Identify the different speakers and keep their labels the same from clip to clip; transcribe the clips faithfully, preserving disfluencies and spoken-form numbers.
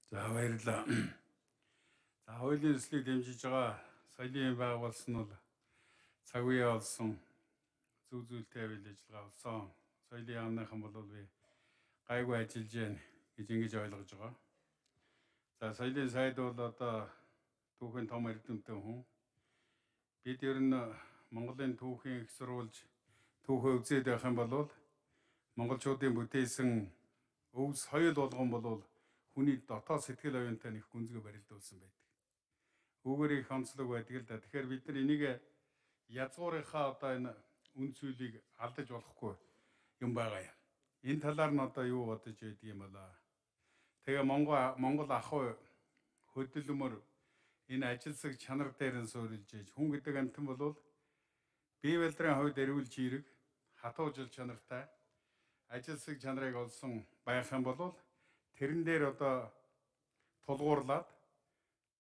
Speaker 1: За баярлалаа. За хуулийн ёслыг дэмжиж байгаа соёлын байгуулсан нь бол цаг үе олсон зүг зүйлтэй авил ажиллагаа болсон. Соёлын яамныхан бол би гайгүй ажиллаж байна гэж ингэж ойлгож байгаа. За соёлын сайд бол одоо түүхийн том эрдэмтэн хүн. Бид ер нь Монголын түүхийн их сурвалж түүхөө үзээд байх юм бол монголчуудын бүтээсэн өв соёл болгон бол хүний дотоод сэтгэл оюунтай нэг гүнзгий барилдуулсан байдаг. Үүгээр их онцлог байдаг л да. Тэгэхээр бид нар энийг язгуурынхаа одоо энэ үн цөлийг алдаж болохгүй юм байгаа юм. Энэ талаар нь одоо юу бодож байдаг юм болоо. Тэгээ Монгол Монгол ахуй хөдөлмөр энэ ажилсаг чанар дээр нь суурилж ийж хүн гэдэг амтан бол бие барилдрын хувьд эрүүл жирэг хатуу жил чанартай ажилсаг чанарыг олсон байх юм бол тэрэн дээр одоо тулгуурлаад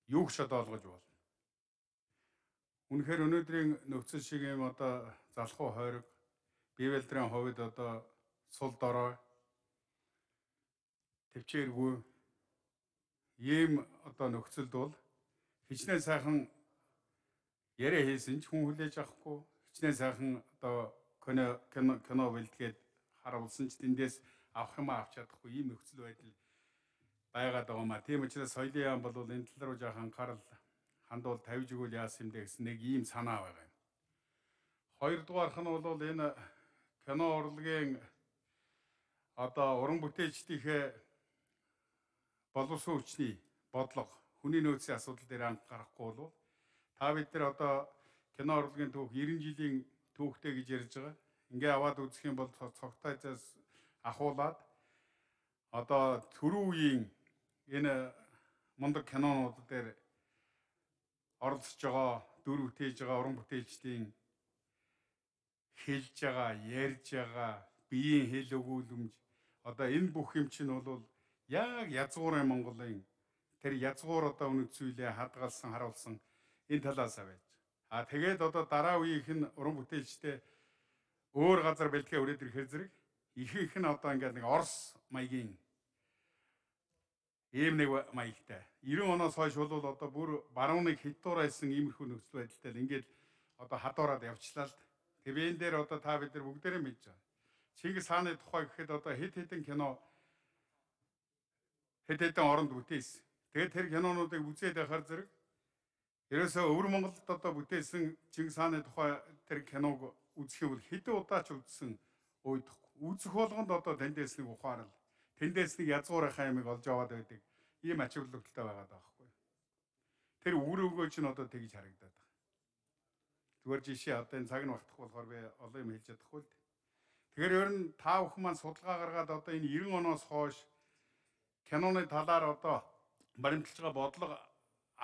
Speaker 1: юу ч одоо олгож болно. Үнэхээр өнөөдрийн нөхцөл шиг юм одоо залхуу хойрог бие барилдрын хувьд одоо сул дорой төвчээргүй ийм одоо нөхцөлд бол хичнээн сайхан яриа хийсэн ч хүн хүлээж авахгүй хичнээн сайхан одоо кино кино кино бэлтгээд харуулсан ч тэндээс авах юм авч чадахгүй ийм нөхцөл байдал байгаад байгаа маа. Тийм учраас соёлын яам бол энэ тал руу жаахан анхаарал хандуул тавьж өгвөл яасан юм бэ гэсэн нэг ийм санаа байгаа юм. Хоёрдугаарх нь бол энэ кино урлагийн одоо уран бүтээлчдийнхээ боловсон хүчний бодлого хүний нөөцийн асуудал дээр анхаарахгүй бол та бид нар одоо кино урлагийн түүх найман жилийн түүхтэй гэж ярьж байгаа. Ингээ аваад үзэх юм бол цогтойцоос ахуулаад одоо түрүү үеийн энэ мундаг кинонууд дээр оролцож байгаа дүр бүтээж байгаа уран бүтээлчдийн хэлж байгаа, ярьж байгаа, биеийн хэл өгүүлэмж одоо энэ бүх юм чинь бол яг язгуурын Монголын тэр язгуур одоо үнэт зүйлээ хадгалсан, харуулсан энэ талаас авэж. А тэгээд одоо дараа үеийнх нь уран бүтээлчтэй өөр газар бэлтгээ өрөөд ирэхэр зэрэг ихэнх нь одоо ингээд нэг Орос маягийн ийм нэг маягтай. девяносто оноос хойш бол одоо бүр баруун нэг хитуурайсан иймэрхүү нөхцөл байдалтай л ингээд одоо хадуураад явчлаа л. Тэгээ энэ дээр одоо та бид нар бүгдээрээ мэдж байгаа. Чингис хааны тухай гэхэд одоо хэд хэдэн кино хэд хэдэн оронд бүтээсэн. Тэгээд тэр кинонуудыг үзээд байхаар зэрэг ерөөсөө өвөр Монголд одоо бүтээсэн Чингис хааны тухай тэр киног үзэх юм бол хэдэн удаа ч үзсэн уйдахгүй. Үзэх болгонд одоо тэндээс нэг ухаарал, тэндээс нэг язгуурынхаа ямиг олж аваад байдаг. Ийм ач холбогдолтой байгаад байгаа байхгүй. Тэр үр өгөөч нь одоо тэгж харагдаад байна. Зүгээр жишээ одоо энэ цаг нь багтах болохоор би олон юм хэлж чадахгүй л. Тэгэхээр ер нь та бүхэн маань судалгаа гаргаад одоо энэ девяносто оноос хойш киноны талаар одоо баримталж байгаа бодлого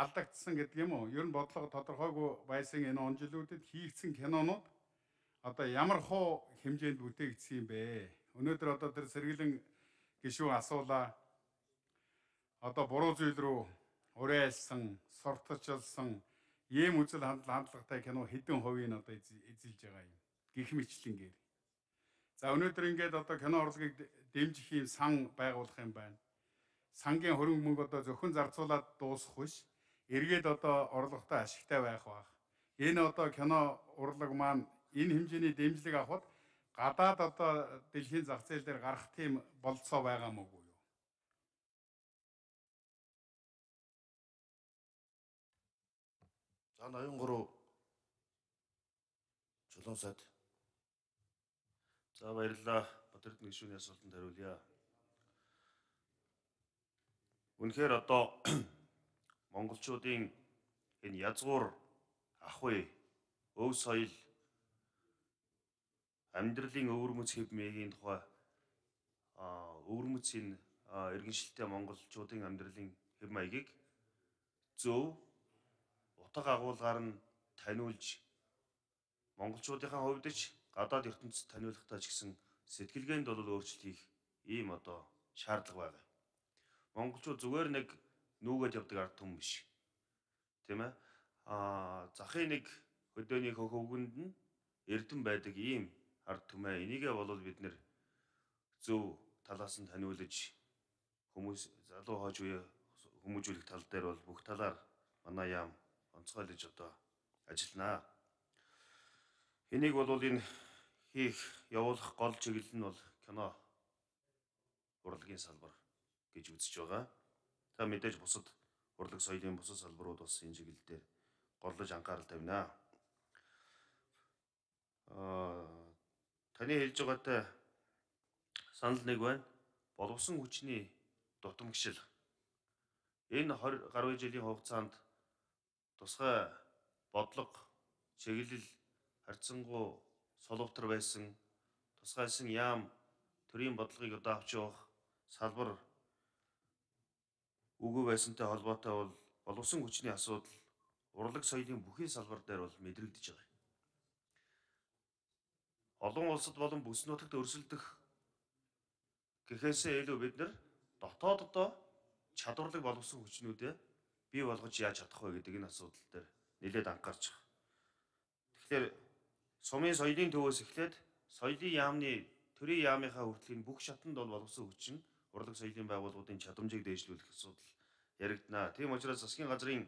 Speaker 1: алдагдсан гэдэг юм уу? Ер нь бодлого тодорхойгүй байсан энэ он жилүүдэд хийгдсэн кинонууд одоо ямар хуу хэмжээнд бүтээгдсэн юм бэ? Өнөөдөр одоо тэр сэргэлэн гишүүн асуулаа. Одоо буруу зүйл рүү уриалсан, сурталчилсан ийм үзэл хандлагатай кино хэдэн хувийн одоо эзэлж байгаа юм. Гэх мэтлэнгээр. За өнөөдөр ингээд одоо кино урлагийг дэмжих юм сан байгуулах юм байна. Сангийн хөрөнгө мөнгө одоо зөвхөн зарцуулаад дуусах биш. Эргээд одоо орлоготой ашигтай байх баг. Энэ одоо кино урлаг маань энэ хэмжээний дэмжлэг авахд гадаад одоо дэлхийн зах зээл дээр гарах тийм болцоо байгаа мөгүй юу?
Speaker 2: За ноён гурав чулуун сайд.
Speaker 3: За баярлалаа. Батэрдэн гишүүний асуултанд хариулъя. Үнэхээр одоо монголчуудын энэ язгуур ахуй, өв соёл, амьдралын өвөрмөц хэв маягийн тухай өвөрмөцийн иргэншилтэй монголчуудын амьдралын хэв маягийг зөв утга агуулгаар нь таниулж монголчуудынхаа хувьд ч гадаад ертөнцид таниулахтаа ч гэсэн сэтгэлгээнд бол өөрчлөлт хийх ийм одоо шаардлага байгаа. Монголчууд зүгээр нэг нүүгээд явдаг ард түмэн биш. Тийм ээ? Аа захын нэг хөдөөний хөвгөнд нь эрдэм байдаг ийм ард түмээ. Энийгээ бол бид нэр зөв талаас нь таниулж хүмүүс залуу хойч үе хүмүүжүүлэх тал дээр бол бүх талаар манай яам онцгойлож одоо ажилланаа. Энийг бол энэ хийх явуулах гол чиглэл нь бол кино урлагийн салбар гэж үзэж байгаа. Та мэдээж бусад урлаг соёлын бусад салбарууд бас энэ чиглэл дээр горлож анхаарал тавина. Аа таны хэлж байгаатай санал нэг байна. Боловсон хүчний дутамгшил. Энэ двадцать гаруй жилийн хугацаанд тусгай бодлого, чиглэл, харьцангуй соловтор байсан тусгайсан яам төрийн бодлогыг одоо авч явах салбар үгүй байсантай холбоотой бол боловсон хүчний асуудал урлаг соёлын бүхий салбар дээр бол мэдрэгдэж байгаа. Олон улсад болон бүс нутагт өрсөлдөх гэхээсээ илүү бид нар дотооддоо чадварлаг боловсон хүчнүүдээ бий болгож яаж чадах вэ гэдэг энэ асуудал дээр нэлээд анхаарч байгаа. Тэгэхээр сумын соёлын төвөөс эхлээд соёлын яамны төрийн яамынхаа хүртэл энэ бүх шатанд бол боловсон хүчин урлаг соёлын байгууллагуудын чадамжийг дээшлүүлэх асуудал яригдана. Тийм учраас засгийн газрын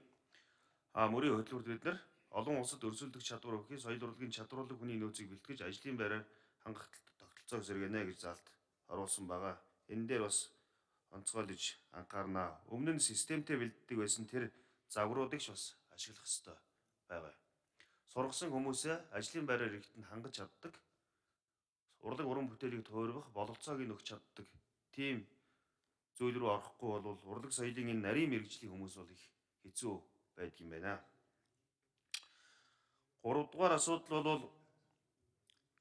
Speaker 3: мөрийн хөтөлбөрт бид нар олон улсад өрсөлдөх чадвар өгөх, соёл урлагийн чадварлаг хүний нөөцийг бэлтгэж ажлын байраар хангах тогтолцоог сэргэнэ гэж заалт оруулсан байгаа. Энэ дээр бас онцгойлож анхаарнаа. Өмнө нь системтэй бэлддэг байсан тэр загваруудыг ч бас ашиглах ёстой байгаа. Сургасан хүмүүсээ ажлын байраар ирэхэд нь хангаж чаддаг, урлаг уран бүтээлийг туурвах бололцоог нь өгч чаддаг тийм зүйл рүү орохгүй бол урлаг соёлын энэ нарийн мэргэжлийн хүмүүс бол их хэцүү байдаг юм байна. Гуравдугаар асуудал бол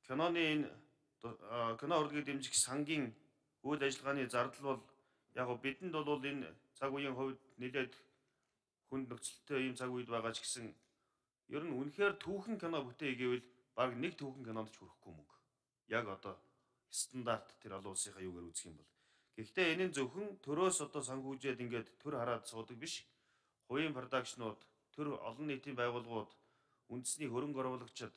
Speaker 3: киноны энэ кино урлагийг дэмжих сангийн үйл ажиллагааны зардал бол яг бидэнд бол энэ цаг үеийн хувьд нэлээд хүнд нөхцөлтэй ийм цаг үед байгаа ч гэсэн ер нь үнэхээр түүхэн кино бүтээе гэвэл баг нэг түүхэн кинонд ч хүрэхгүй мөнгө. Яг одоо стандарт тэр олон улсынхаа юугаар үзэх юм бол. Гэхдээ энэ нь зөвхөн төрөөс одоо санхүүжээд ингээд төр хараад суудаг биш. Хувийн продакшнууд, төр олон нийтийн байгууллагууд, үндэсний хөрөнгө оруулагчид,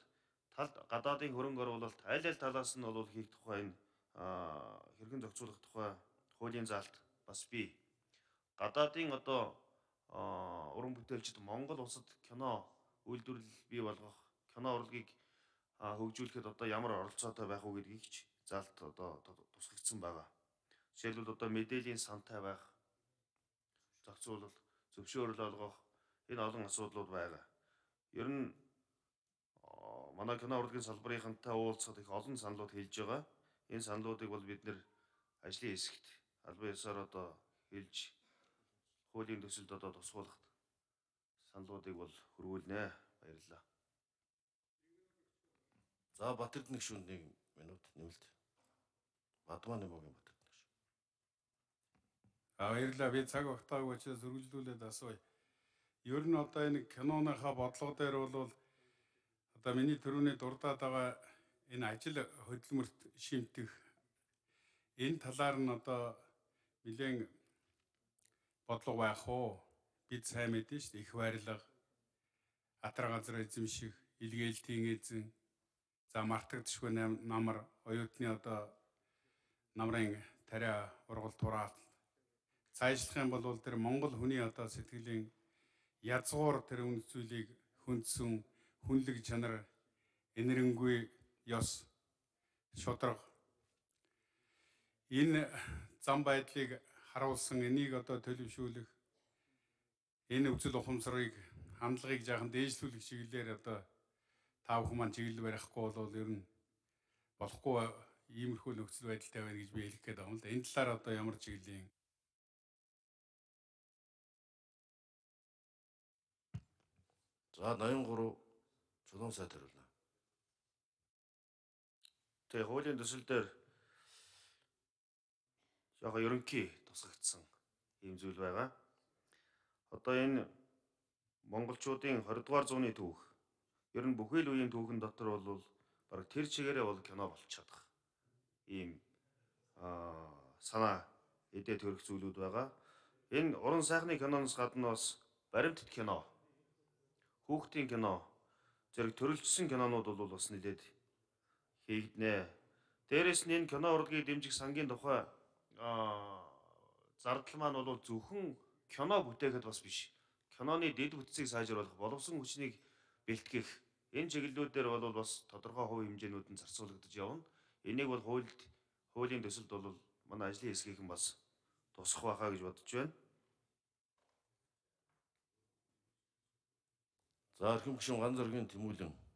Speaker 3: талд гадаадын хөрөнгө оруулалт аль аль талаас нь бол хийх тухай энэ хэрхэн зохицуулах тухай хуулийн заалт бас бий. Гадаадын одоо уран бүтээлчид Монгол улсад кино үйлдвэрлэл бий болгох, кино урлагийг хөгжүүлэхэд одоо ямар оролцоотой байх уу гэдгийг ч заалт одоо тусгагдсан байгаа. Жишээлбэл одоо мэдээллийн сантай байх, зохицуулалт, зөвшөөрөл олгох энэ олон асуудлууд байгаа. Ер нь манай кино урлагийн салбарынхантай уулзахад их олон саналууд хэлж байгаа. Энэ саналуудыг бол бид нэр ажлын хэсэгт албан ёсоор одоо хэлж хуулийн төсөлд одоо тусгуулахад саналуудыг бол хөрвүүлнэ. Баярлалаа.
Speaker 2: За Батэрдэн гишүүнд нэг минут нэмэлт. Бадмаа Нэмогийн Батэрдэн гишүүн.
Speaker 1: А баярлалаа. Би цаг багтаагүй учраас үргэлжлүүлээд асууя. Ер нь одоо энэ киноныхаа бодлого дээр бол одоо миний төрөний дурдаад байгаа энэ ажил хөдөлмөрт шимтэх энэ талаар нь одоо нэлээд бодлого байх уу? Бид сайн мэдэн шүү дээ. Их байрлага, атар газар эзэмших, илгээлтийн эзэн, за мартагдшгүй намар, оюутны одоо намрын тариа ургал тураалт. Цаашлах юм бол тэр Монгол хүний одоо сэтгэлийн язгуур тэр үнд зүйлийг хүндсэн хүнлэг чанар, энэрэнгүй ёс, шударга энэ зам байдлыг харуулсан энийг одоо төлөвшүүлэх энэ үзэл ухамсарыг хандлагыг жаахан дээшлүүлэх чиглэлээр одоо та бүхэн маань чиглэл барихгүй бол ер нь болохгүй иймэрхүү нөхцөл байдалтай байна гэж би хэлэх гээд байна л да. Энэ талаар одоо ямар чиглэлийн
Speaker 2: За восемьдесят три чулуун сайд хариулна.
Speaker 3: Тэгээ хуулийн төсөл дээр жоохон ерөнхий тусгагдсан ийм зүйл байгаа. Одоо энэ монголчуудын двадцать дугаар зууны түүх ер нь бүхий л үеийн түүхэн дотор бол баг тэр чигээрээ бол кино болчиход байгаа. Ийм аа санаа эдээ төрөх зүйлүүд байгаа. Энэ уран сайхны киноноос гадна бас баримтат кино, хүүхдийн кино, зэрэг төрөлжсөн кинонууд бол бас нэлээд хийгднэ. Дээрээс нь энэ кино урлагийг дэмжих сангийн тухай зардал маань бол зөвхөн кино бүтээхэд бас биш. Киноны дэд бүтцийг сайжруулах, боловсон хүчнийг бэлтгэх энэ чиглэлүүдээр бол бас тодорхой хувь хэмжээнүүд нь зарцуулагдаж явна. Энийг бол хуульд хуулийн төсөлд бол манай ажлын хэсгийнхэн бас тусах байхаа гэж бодож байна.
Speaker 2: За эрхэм гишүүн Ган Зоригийн Тэмүүлэн